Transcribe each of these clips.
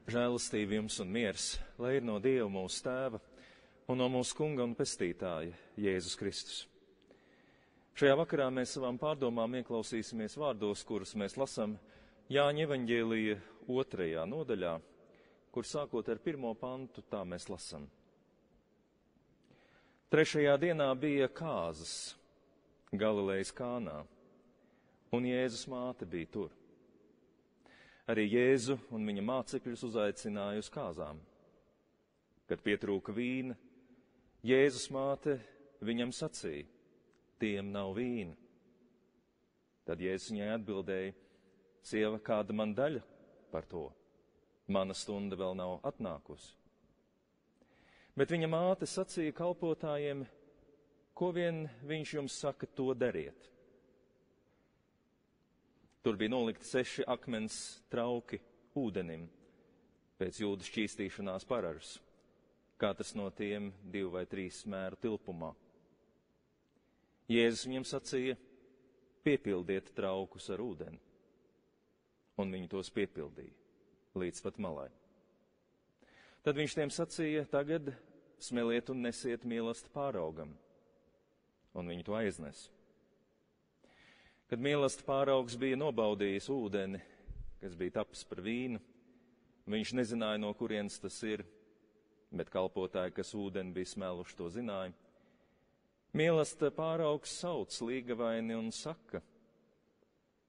Žēlastība jums un miers, lai ir no Dieva mūsu Tēva un no mūsu Kunga un Pestītāja Jēzus Kristus. Šajā vakarā mēs savām pārdomām ieklausīsimies vārdos, kurus mēs lasām Jāņa evaņģēlija 2. nodaļā, kur sākot ar 1. pantu tā mēs lasām. 3. dienā bija kāzas Galilejas Kānā, un Jēzus māte bija tur. Arī Jēzu un viņa mācekļus uzaicināja uz kāzām. Kad pietrūka vīna, Jēzus māte viņam sacīja: tiem nav vīna. Tad Jēzus viņai atbildēja: sieva, kāda man daļa par to? Mana stunda vēl nav atnākusi. Bet viņa māte sacīja kalpotājiem: ko vien viņš jums saka, to dariet. Tur bija nolikti 6 akmens trauki ūdenim, pēc jūdu šķīstīšanās paražas, katrs no tiem 2 vai 3 smēru tilpumā. Jēzus viņiem sacīja: piepildiet traukus ar ūdeni. Un viņi tos piepildīja, līdz pat malai. Tad viņš tiem sacīja: tagad smeliet un nesiet mīlestību pāraugam. Un viņi to aiznes. Kad mīlestība pāraugs bija nobaudījis ūdeni, kas bija tapis par vīnu, viņš nezināja, no kurienes tas ir, bet kalpotāji, kas ūdeni bija smeluši, to zināja. Mīlestība pāraugs sauc līgavaini un saka: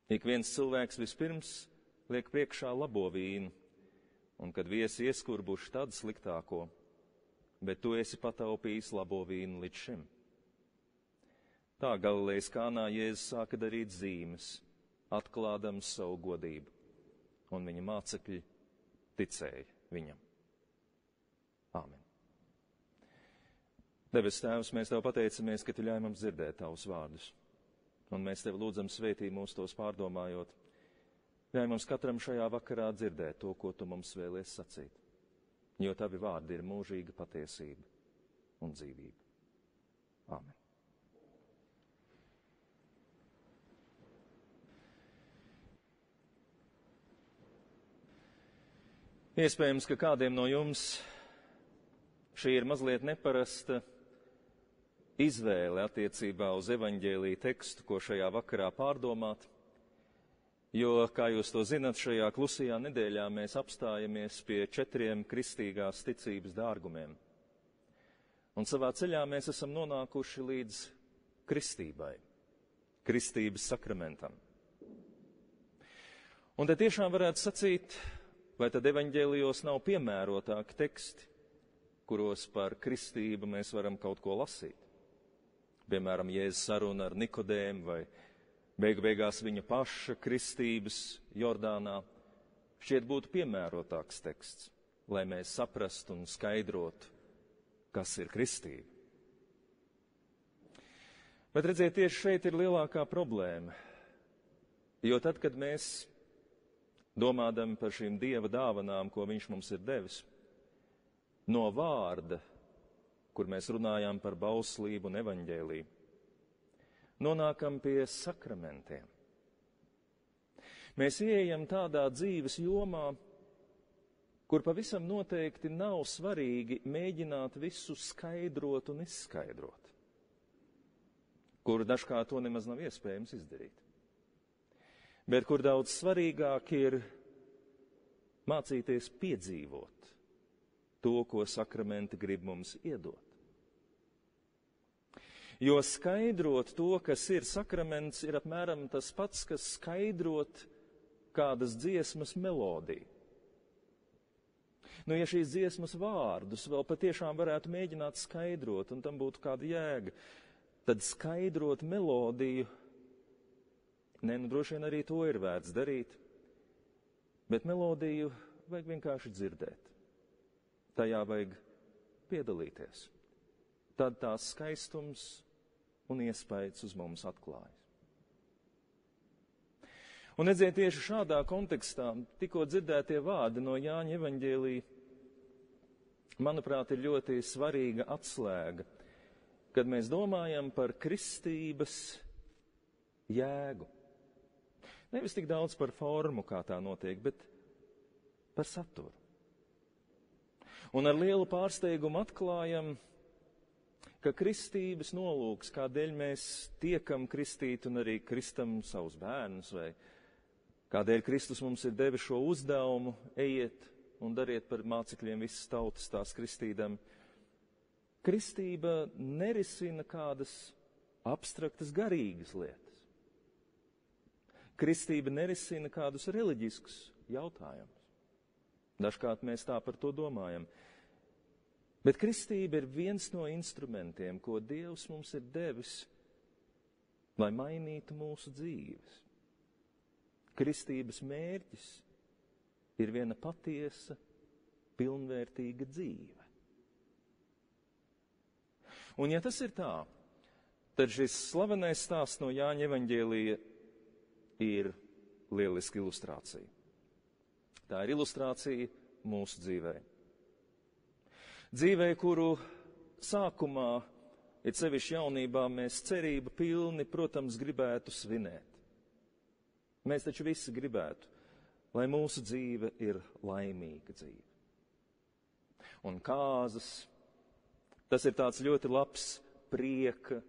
ik viens cilvēks vispirms liek priekšā labo vīnu, un kad viesi ieskurbuši, tad sliktāko, bet tu esi pataupījis labo vīnu līdz šim. Tā Galilejas Kānā Jēzus sāka darīt zīmes, atklādams savu godību, un viņa mācekļi ticēja viņam. Āmen. Debes Tēvs, mēs Tev pateicamies, ka Tu ļauj mums dzirdēt Tavus vārdus, un mēs Tev lūdzam svētī mūs tos pārdomājot. Ļauj mums katram šajā vakarā dzirdēt to, ko Tu mums vēlies sacīt, jo Tavi vārdi ir mūžīga patiesība un dzīvība. Āmen. Iespējams, ka kādiem no jums šī ir mazliet neparasta izvēle attiecībā uz evaņģēlija tekstu, ko šajā vakarā pārdomāt, jo, kā jūs to zinat, šajā klusajā nedēļā mēs apstājamies pie 4 kristīgās ticības dārgumiem. Un savā ceļā mēs esam nonākuši līdz kristībai, kristības sakramentam. Un te tiešām varētu sacīt, vai tad evaņģēlijos nav piemērotāki teksti, kuros par kristību mēs varam kaut ko lasīt? Piemēram, Jēzus saruna ar Nikodēmu vai beigās viņa paša kristības Jordānā šķiet būtu piemērotāks teksts, lai mēs saprastu un skaidrotu, kas ir kristība. Bet redziet, tieši šeit ir lielākā problēma, jo tad, kad mēs domādami par šīm Dieva dāvanām, ko Viņš mums ir devis, no vārda, kur mēs runājām par bauslību un evaņģēliju, nonākam pie sakramentiem. Mēs ieejam tādā dzīves jomā, kur pavisam noteikti nav svarīgi mēģināt visu skaidrot un izskaidrot, kur dažkārt to nemaz nav iespējams izdarīt. Bet kur daudz svarīgāk ir mācīties piedzīvot to, ko sakramenti grib mums iedot. Jo skaidrot to, kas ir sakraments, ir apmēram tas pats, kas skaidrot kādas dziesmas melodiju. Ja šīs dziesmas vārdus vēl patiešām varētu mēģināt skaidrot, un tam būtu kāda jēga, tad skaidrot melodiju, droši vien arī to ir vērts darīt, bet melodiju vajag vienkārši dzirdēt. Tajā vajag piedalīties. Tad tās skaistums un iespējas uz mums atklājas. Un redziet, tieši šādā kontekstā tikko dzirdētie vārdi no Jāņa evaņģēlija, manuprāt, ir ļoti svarīga atslēga, kad mēs domājam par kristības jēgu. Nevis tik daudz par formu, kā tā notiek, bet par saturu. Un ar lielu pārsteigumu atklājam, ka kristības nolūks, kādēļ mēs tiekam kristīti un arī kristam savus bērnus, vai kādēļ Kristus mums ir devis šo uzdevumu, ejiet un dariet par mācekļiem visas tautas tās kristīdam. Kristība nerisina kādas abstraktas garīgas lietas. Kristība nerisina kādus reliģiskus jautājumus. Dažkārt mēs tā par to domājam. Bet kristība ir viens no instrumentiem, ko Dievs mums ir devis, lai mainītu mūsu dzīves. Kristības mērķis ir viena patiesa, pilnvērtīga dzīve. Un ja tas ir tā, tad šis slavenais stāsts no Jāņa evaņģēlija ir lieliska ilustrācija. Tā ir ilustrācija mūsu dzīvē. Dzīvē, kuru sākumā, it sevišķi jaunībā, mēs cerību pilni, protams, gribētu svinēt. Mēs taču visi gribētu, lai mūsu dzīve ir laimīga dzīve. Un kāzas, tas ir tāds ļoti labs prieka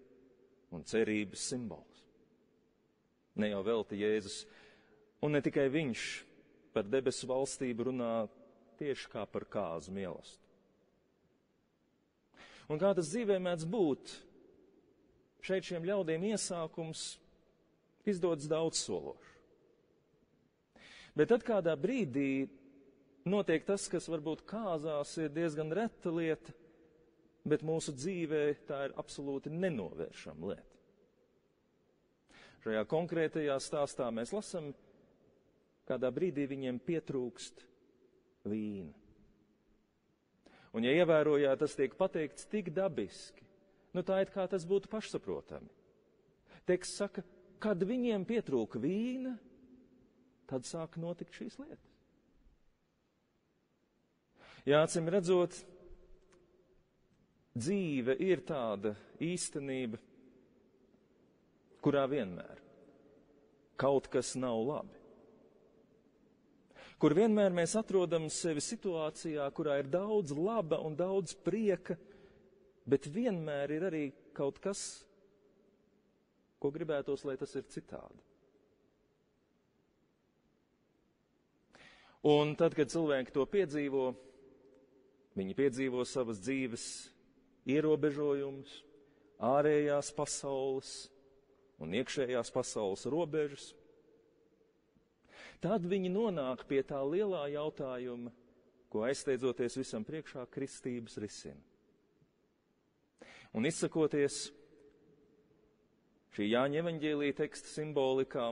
un cerības simbols. Ne jau velti Jēzus, un ne tikai viņš par debesu valstību runā tieši kā par kāzu mīlestību. Un kā tas dzīvē mēdz būt, šeit šiem ļaudīm iesākums izdodas daudzsološi. Bet tad kādā brīdī notiek tas, kas varbūt kāzās ir diezgan reta lieta, bet mūsu dzīvē tā ir absolūti nenovēršama lieta. Šajā konkrētajā stāstā mēs lasam, kādā brīdī viņiem pietrūkst vīna. Un, ja ievērojāt, tas tiek pateikts tik dabiski, tā ir kā tas būtu pašsaprotami. Teksts saka, kad viņiem pietrūka vīna, tad sāk notikt šīs lietas. Jā, acīm redzot, dzīve ir tāda īstenība, kurā vienmēr kaut kas nav labi. Kur vienmēr mēs atrodam sevi situācijā, kurā ir daudz laba un daudz prieka, bet vienmēr ir arī kaut kas, ko gribētos, lai tas ir citādi. Un tad, kad cilvēki to piedzīvo, viņi piedzīvo savas dzīves ierobežojumus, ārējās pasaules un iekšējās pasaules robežas. Tad viņi nonāk pie tā lielā jautājuma, ko aizsteidzoties visam priekšā kristības risina. Un izsakoties šī Jāņa evaņģēlija teksta simbolikā,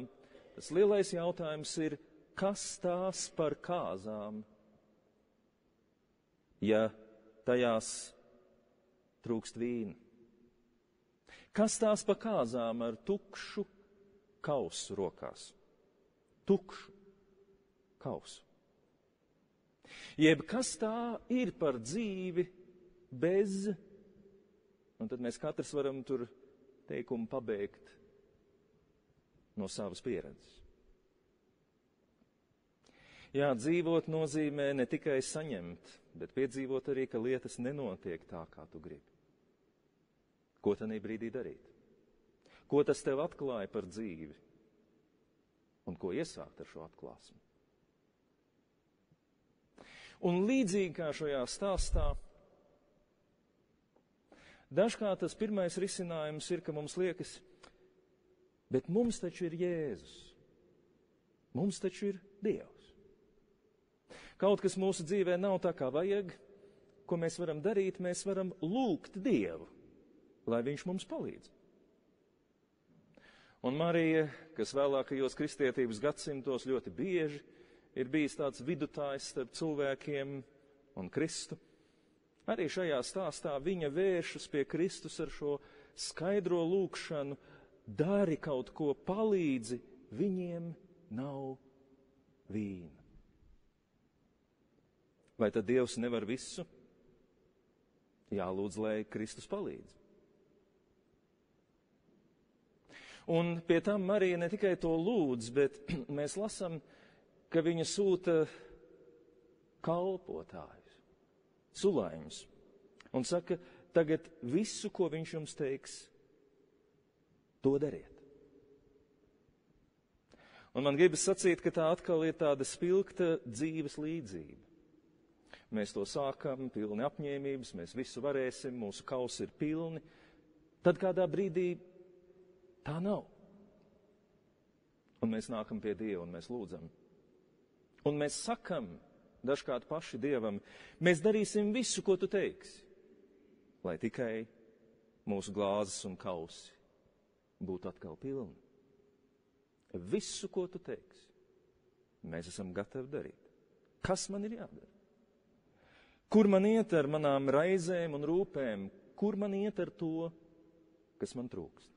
tas lielais jautājums ir, kas tās par kāzām, ja tajās trūkst vīna? Kas tās par kāzām ar tukšu kausu rokās? Tukšu kausu. Jeb kas tā ir par dzīvi bez, un tad mēs katrs varam tur teikumu pabeigt no savas pieredzes. Jā, dzīvot nozīmē ne tikai saņemt, bet piedzīvot arī, ka lietas nenotiek tā, kā tu gribi. Ko tanī brīdī darīt? Ko tas tev atklāja par dzīvi? Un ko iesākt ar šo atklāsmi? Un līdzīgi kā šajā stāstā, dažkārt tas pirmais risinājums ir, ka mums liekas, bet mums taču ir Jēzus. Mums taču ir Dievs. Kaut kas mūsu dzīvē nav tā, kā vajag, ko mēs varam darīt, mēs varam lūgt Dievu, lai viņš mums palīdz. Un Marija, kas vēlākajos kristietības gadsimtos ļoti bieži ir bijis tāds vidutājs starp cilvēkiem un Kristu, arī šajā stāstā viņa vēršas pie Kristus ar šo skaidro lūgšanu, dari kaut ko, palīdzi, viņiem nav vīna. Vai tad Dievs nevar visu? Jālūdz, lai Kristus palīdz. Un pie tam Marija ne tikai to lūdz, bet mēs lasam, ka viņa sūta kalpotājus, sulaiņus un saka, tagad visu, ko viņš jums teiks, to dariet. Un man gribas sacīt, ka tā atkal ir tāda spilgta dzīves līdzība. Mēs to sākam, pilni apņēmības, mēs visu varēsim, mūsu kausi ir pilni. Tad kādā brīdī tā nav. Un mēs nākam pie Dieva un mēs lūdzam. Un mēs sakam dažkārt paši Dievam, mēs darīsim visu, ko tu teiksi, lai tikai mūsu glāzes un kausi būtu atkal pilni. Visu, ko tu teiksi, mēs esam gatavi darīt. Kas man ir jādara? Kur man iet ar manām raizēm un rūpēm? Kur man iet ar to, kas man trūkst?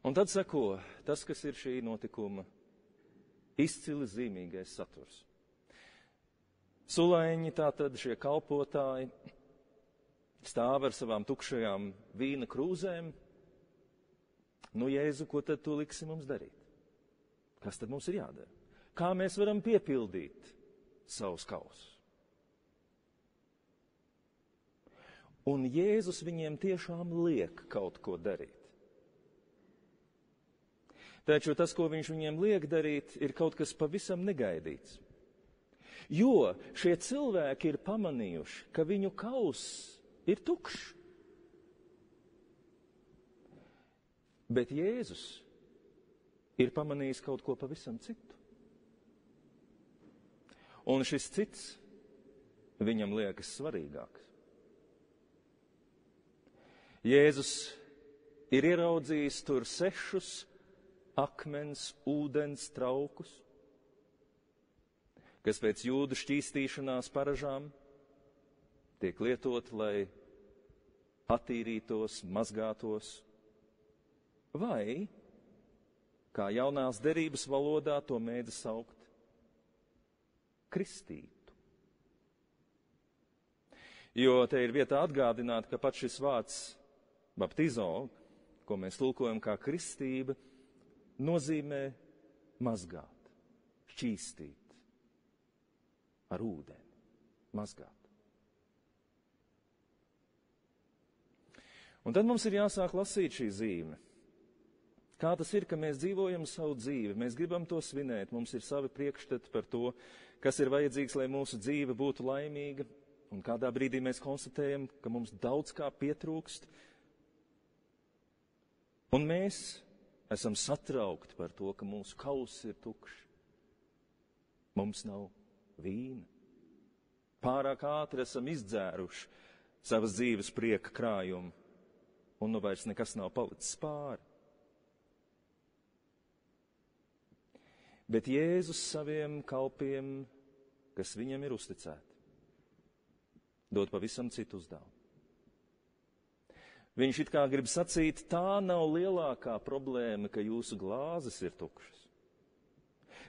Un tad seko tas, kas ir šī notikuma izcili zīmīgais saturs. Sulaiņi, tātad šie kalpotāji, stāv ar savām tukšajām vīna krūzēm. Nu, Jēzu, ko tad tu liksi mums darīt? Kas tad mums ir jādara? Kā mēs varam piepildīt savus kausus? Un Jēzus viņiem tiešām liek kaut ko darīt. Taču tas, ko viņš viņiem liek darīt, ir kaut kas pavisam negaidīts. Jo šie cilvēki ir pamanījuši, ka viņu kauss ir tukšs. Bet Jēzus ir pamanījis kaut ko pavisam citu. Un šis cits viņam liekas svarīgāks. Jēzus ir ieraudzījis tur 6 akmens ūdens traukus, kas pēc jūdu šķīstīšanās paražām tiek lietot, lai attīrītos, mazgātos, vai, kā jaunās derības valodā to mēdz saukt, kristītu. Jo te ir vietā atgādināt, ka pat šis vārds baptizo, ko mēs tulkojam kā kristība, nozīmē mazgāt, šķīstīt ar ūdeni, mazgāt. Un tad mums ir jāsāk lasīt šī zīme. Kā tas ir, ka mēs dzīvojam savu dzīvi, mēs gribam to svinēt, mums ir savi priekšstati par to, kas ir vajadzīgs, lai mūsu dzīve būtu laimīga, un kādā brīdī mēs konstatējam, ka mums daudz kā pietrūkst, un mēs esam satraukti par to, ka mūsu kauss ir tukšs. Mums nav vīna. Pārāk ātri esam izdzēruši savas dzīves prieka krājumu, un nu vairs nekas nav palicis pāri. Bet Jēzus saviem kalpiem, kas viņam ir uzticēti, dod pavisam citu uzdevumu. Viņš it kā grib sacīt, tā nav lielākā problēma, ka jūsu glāzes ir tukšas.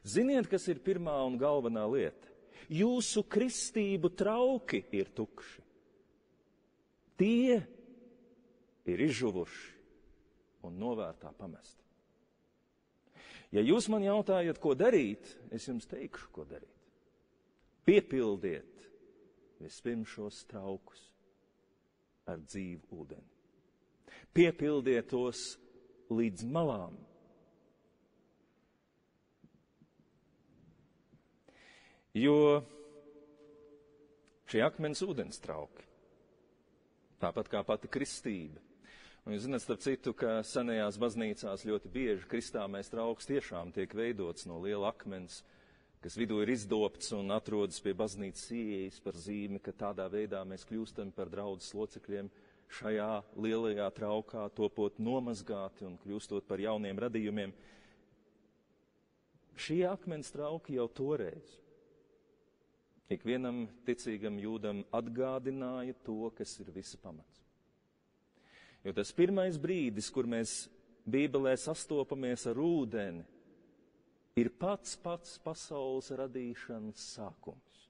Ziniet, kas ir pirmā un galvenā lieta? Jūsu kristību trauki ir tukši. Tie ir izžuvuši un novērtā pamesti. Ja jūs man jautājat, ko darīt, es jums teikšu, ko darīt. Piepildiet vispirms šos traukus ar dzīvu ūdeni. Piepildiet tos līdz malām. Jo šie akmens ūdens trauki, tāpat kā pati kristība, un jūs zināt, starp citu, ka senajās baznīcās ļoti bieži kristāmais trauks tiešām tiek veidots no liela akmens, kas vidū ir izdobts un atrodas pie baznīcas ieejas par zīmi, ka tādā veidā mēs kļūstam par draudzes locekļiem šajā lielajā traukā, topot nomazgāti un kļūstot par jauniem radījumiem. Šie akmens trauki jau toreiz ikvienam ticīgam jūdam atgādināja to, kas ir visa pamats. Jo tas pirmais brīdis, kur mēs Bībelē sastopamies ar ūdeni, ir pats pasaules radīšanas sākums.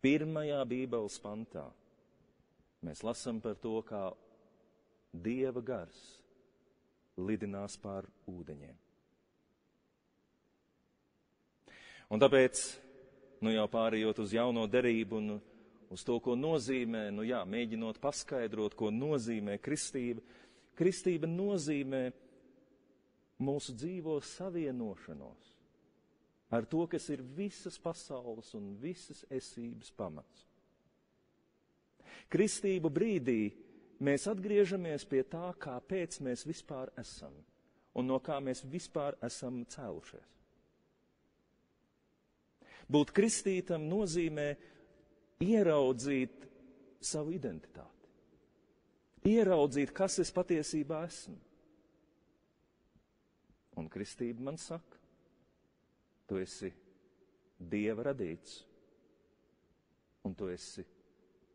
Pirmajā Bībeles pantā mēs lasām par to, kā Dieva gars lidinās pār ūdeņiem. Un tāpēc, jau pārējot uz jauno derību un uz to, ko nozīmē, mēģinot paskaidrot, ko nozīmē kristība. Kristība nozīmē mūsu dzīvo savienošanos ar to, kas ir visas pasaules un visas esības pamats. Kristību brīdī mēs atgriežamies pie tā, kāpēc mēs vispār esam un no kā mēs vispār esam cēlušies. Būt kristītam nozīmē ieraudzīt savu identitāti, ieraudzīt, kas es patiesībā esmu. Un kristība man saka, tu esi Dieva radīts, un tu esi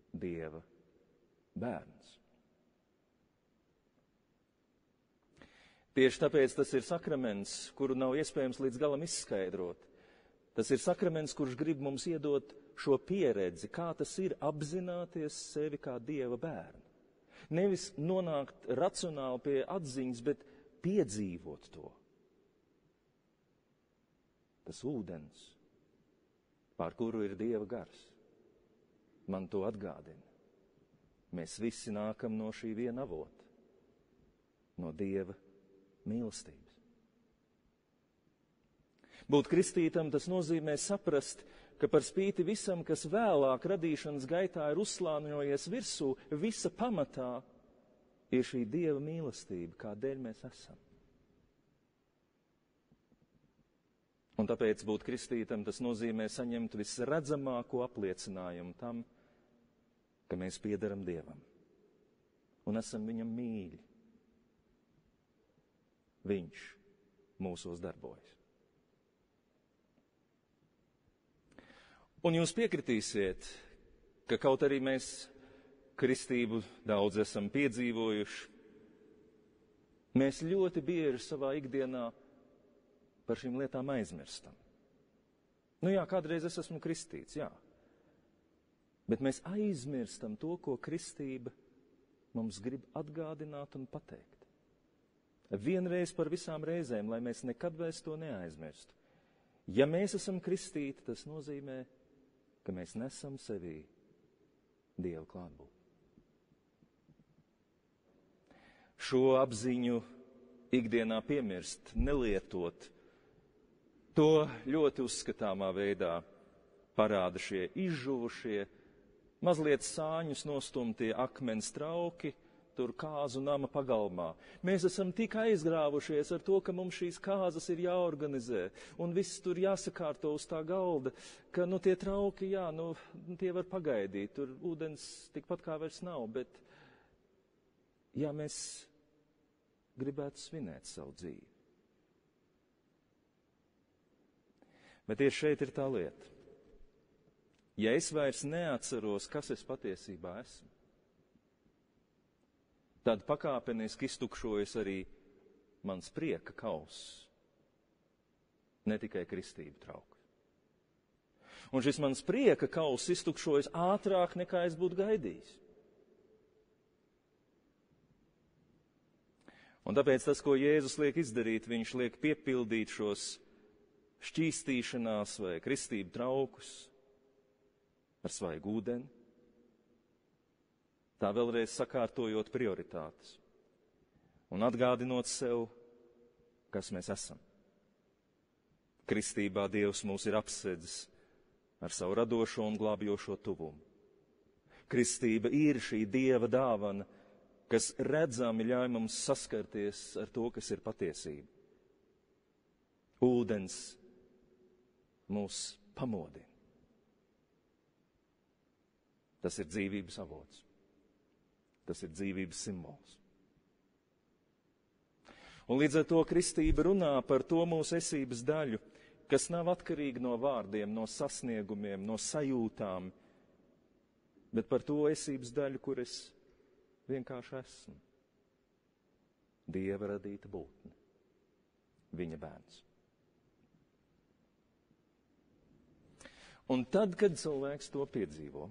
Dieva bērns. Tieši tāpēc tas ir sakraments, kuru nav iespējams līdz galam izskaidrot. Tas ir sakraments, kurš grib mums iedot šo pieredzi, kā tas ir apzināties sevi kā Dieva bērnu. Nevis nonākt racionāli pie atziņas, bet piedzīvot to. Tas ūdens, pār kuru ir Dieva gars, man to atgādina. Mēs visi nākam no šī viena avota, no Dieva mīlestības. Būt kristītam, tas nozīmē saprast, ka par spīti visam, kas vēlāk radīšanas gaitā ir uzslāņojies virsū, visa pamatā ir šī Dieva mīlestība, kādēļ mēs esam. Un tāpēc būt kristītam, tas nozīmē saņemt visredzamāko apliecinājumu tam, ka mēs piederam Dievam un esam viņam mīļi. Viņš mūsos darbojas. Un jūs piekritīsiet, ka kaut arī mēs kristību daudz esam piedzīvojuši, mēs ļoti bieži savā ikdienā par šīm lietām aizmirstam. Kādreiz es esmu kristīts, bet mēs aizmirstam to, ko kristība mums grib atgādināt un pateikt. Vienreiz par visām reizēm, lai mēs nekad vairs to neaizmirstu. Ja mēs esam kristīti, tas nozīmē, ka mēs nesam sevī Dieva klātbūtni. Šo apziņu ikdienā piemirst, nelietot, to ļoti uzskatāmā veidā parāda šie izžuvušie, mazliet sāņus nostumtie akmens trauki, tur kāzu nama pagalmā. Mēs esam tik aizgrāvušies ar to, ka mums šīs kāzas ir jāorganizē, un viss tur jāsakārto uz tā galda, ka tie trauki, tie var pagaidīt, tur ūdens tikpat kā vairs nav, bet mēs gribētu svinēt savu dzīvi. Bet tieši šeit ir tā lieta. Ja es vairs neatceros, kas es patiesībā esmu, tad pakāpeniski iztukšojas arī mans prieka kauss, ne tikai kristību trauks. Un šis mans prieka kauss iztukšojas ātrāk, nekā es būtu gaidījis. Un tāpēc tas, ko Jēzus liek izdarīt, viņš liek piepildīt šos šķīstīšanās vai kristību traukus ar svaigu ūdeni, tā vēlreiz sakārtojot prioritātes un atgādinot sev, kas mēs esam. Kristībā Dievs mūs ir apsedzis ar savu radošo un glābjošo tuvumu. Kristība ir šī Dieva dāvana, kas redzami ļauj mums saskarties ar to, kas ir patiesība. Ūdens mūs pamodina. Tas ir dzīvības avots. Tas ir dzīvības simbols. Un līdz ar to kristība runā par to mūsu esības daļu, kas nav atkarīga no vārdiem, no sasniegumiem, no sajūtām, bet par to esības daļu, kur es vienkārši esmu. Dieva radīta būtne, viņa bērns. Un tad, kad cilvēks to piedzīvo,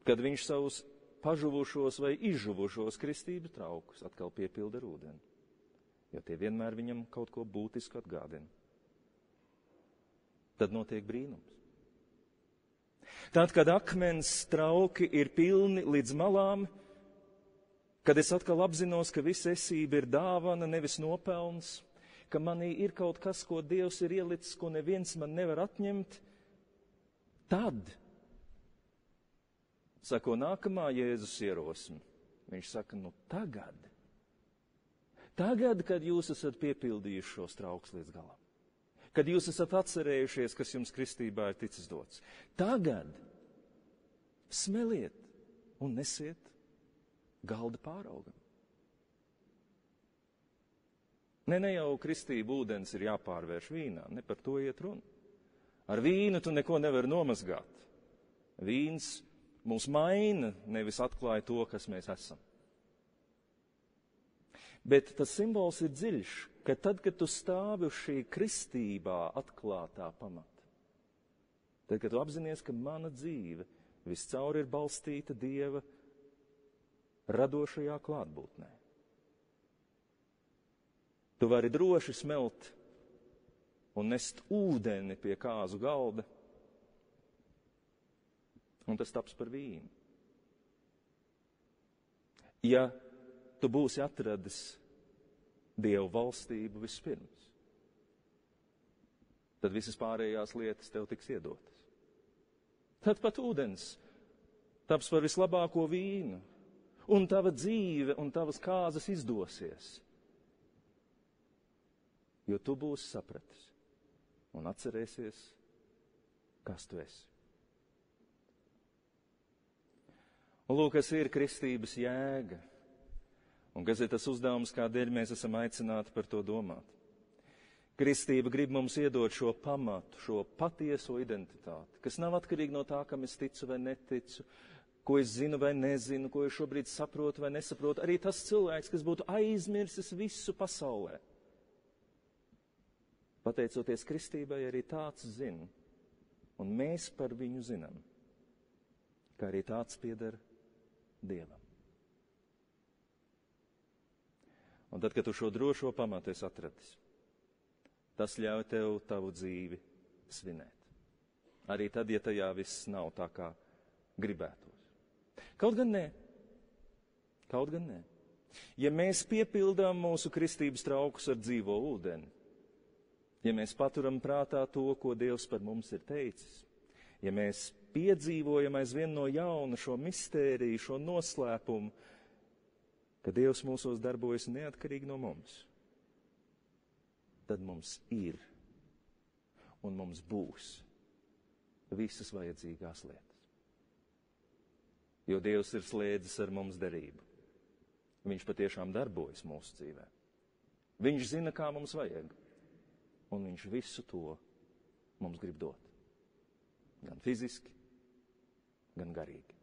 kad viņš savus pažuvušos vai izžuvušos kristību traukus atkal piepilda ar ūdeni, jo tie vienmēr viņam kaut ko būtisku atgādina. tad notiek brīnums. Tad, kad akmens trauki ir pilni līdz malām, kad es atkal apzinos, ka visa esība ir dāvana, nevis nopelns, ka manī ir kaut kas, ko Dievs ir ielicis, ko neviens man nevar atņemt, tad sako nākamā Jēzus ierosme. Viņš saka, tagad, kad jūs esat piepildījuši šos traukus līdz galam, kad jūs esat atcerējušies, kas jums kristībā ir ticis dots, tagad smeliet un nesiet galda pāraugam. Ne jau kristība ūdens ir jāpārvērš vīnā, ne par to iet runa. Ar vīnu tu neko nevari nomazgāt. Vīns mūs maina, nevis atklāja to, kas mēs esam. Bet tas simbols ir dziļš, ka tad, kad tu stāvi uz šī kristībā atklātā pamata, tad, kad tu apzinies, ka mana dzīve viscaur ir balstīta Dieva radošajā klātbūtnē, tu vari droši smelt un nest ūdeni pie kāzu galda, un tas taps par vīnu. Ja tu būsi atradis Dievu valstību vispirms, tad visas pārējās lietas tev tiks iedotas. Tad pat ūdens taps par vislabāko vīnu, un tava dzīve un tavas kāzas izdosies, jo tu būsi sapratis un atcerēsies, kas tu esi. Un lūk, kas ir kristības jēga, un kas ir tas uzdevums, kādēļ mēs esam aicināti par to domāt. Kristība grib mums iedot šo pamatu, šo patieso identitāti, kas nav atkarīgi no tā, kam es ticu vai neticu, ko es zinu vai nezinu, ko es šobrīd saprotu vai nesaprotu. Arī tas cilvēks, kas būtu aizmirsis visu pasaulē. Pateicoties kristībai, arī tāds zina, un mēs par viņu zinām, ka arī tāds pieder Dievam. Un tad, kad tu šo drošo pamatu esi atradis, tas ļauj tev tavu dzīvi svinēt. Arī tad, ja tajā viss nav tā, kā gribētos. Kaut gan nē. Ja mēs piepildām mūsu kristības traukus ar dzīvo ūdeni, ja mēs paturam prātā to, ko Dievs par mums ir teicis, ja mēs piedzīvojam aizvien no jauna šo mistēriju, šo noslēpumu, ka Dievs mūsos darbojas neatkarīgi no mums, tad mums ir un mums būs visas vajadzīgās lietas. Jo Dievs ir slēdzis ar mums derību. Viņš patiešām darbojas mūsu dzīvē. Viņš zina, kā mums vajag, un viņš visu to mums grib dot. Gan fiziski, gan garīgi.